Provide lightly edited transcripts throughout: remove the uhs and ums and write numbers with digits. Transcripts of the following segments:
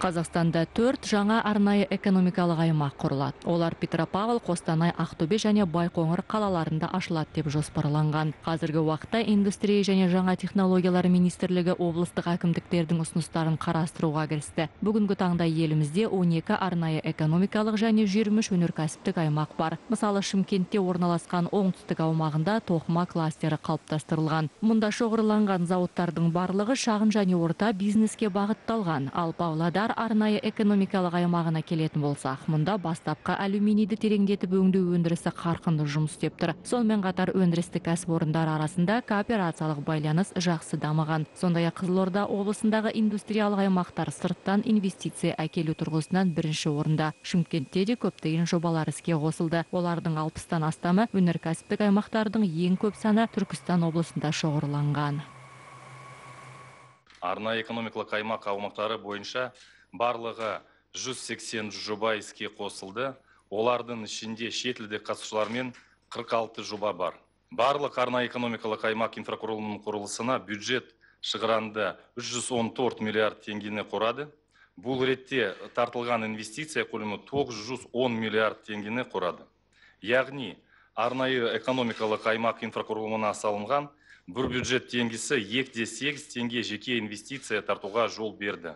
Қазақстанда 4 жаңа арнайы экономикалық аймақ құрылады. Олар Петропавл, Қостанай, Ақтөбе және Байқоңыр қалаларында ашылады деп жоспарланған. Қазіргі уақытта индустрия және жаңа технологиялар министрлігі облыстық әкімдіктердің ұсыныстарын қарастыруға кірісті. Бүгінгі таңда елімізде 12 арнайы экономикалық және 23 өнеркәсіптік аймақ бар. Мысалы, Шымкентте орналасқан оңтүстік аумағында тоқыма кластері қалыптастырылған. Мұнда шоғырланған зауыттардың барлығы шағын және орта бизнеске бағытталған. Ал Павлодар арнайы экономикалық аймағына келетін болсақ, мұнда бастапқы алюминийді тереңдетіп өңдеу өндірісі қарқынды жұмыс істеп тұр. Сонымен қатар өндірістік кәсіпорындар арасында кооперациялық байланыс жақсы дамыған. Сондай-ақ Қызылорда облысындағы индустриялық аймақтар сырттан инвестиция әкелу тұрғысынан бірінші орында. Шымкентте де көптеген жобалар іске қосылды. Олардың 60-тан астамы өнеркәсіптік аймақтардың ең көп саны Түркістан облысында шоғырланған. Арнайы экономикалық аймақ аумақтары бойынша барлығы 180 жоба іске қосылды. Олардың ішінде шетелдік қатысушылармен 46 жоба бар. Барлық арнайы экономикалық аймақ инфрақұрылымының құрылысына бюджет шығаранды 314 миллиард теңгені құрады. Бұл ретте тартылған инвестиция көлемі 910 миллиард теңгені құрады. Яғни арнайы экономикалық аймақ инфрақұрылымына салынған бір бюджет теңгесі 2,8 теңге жеке инвестиция тартуға жол берді.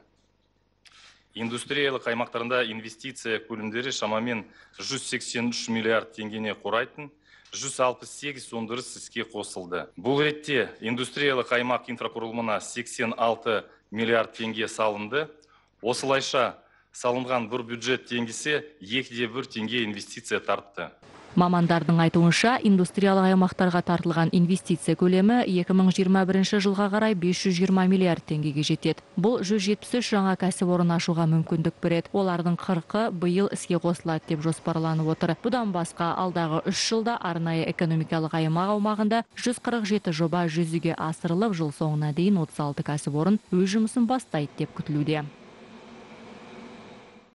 Индустриялық аймақтарында инвестиция көлемдері шамамен 183 миллиард теңгені құрайтын 168 өндіріс іске қосылды. Бұл ретте индустриялық аймақ инфрақұрылымына 86 миллиард теңге салынды. Осылайша салынған бір бюджет теңгесі 2,1 теңге инвестиция тартты. Мамандардың айтуынша, индустриялық аймақтарға тартылған инвестиция көлемі 2021 жылға қарай 520 миллиард теңгеге жетеді. Бұл 173 жаңа кәсіпорын ашуға мүмкіндік береді. Олардың 40-ы биыл іске қосылады деп жоспарланып отыр. Бұдан басқа алдағы 3 жылда арнайы экономикалық аймақ аумағында 147 жоба жүзеге асырылып, жыл соңына дейін 36 кәсіпорын өз жұмысын бастайды деп күтілуде.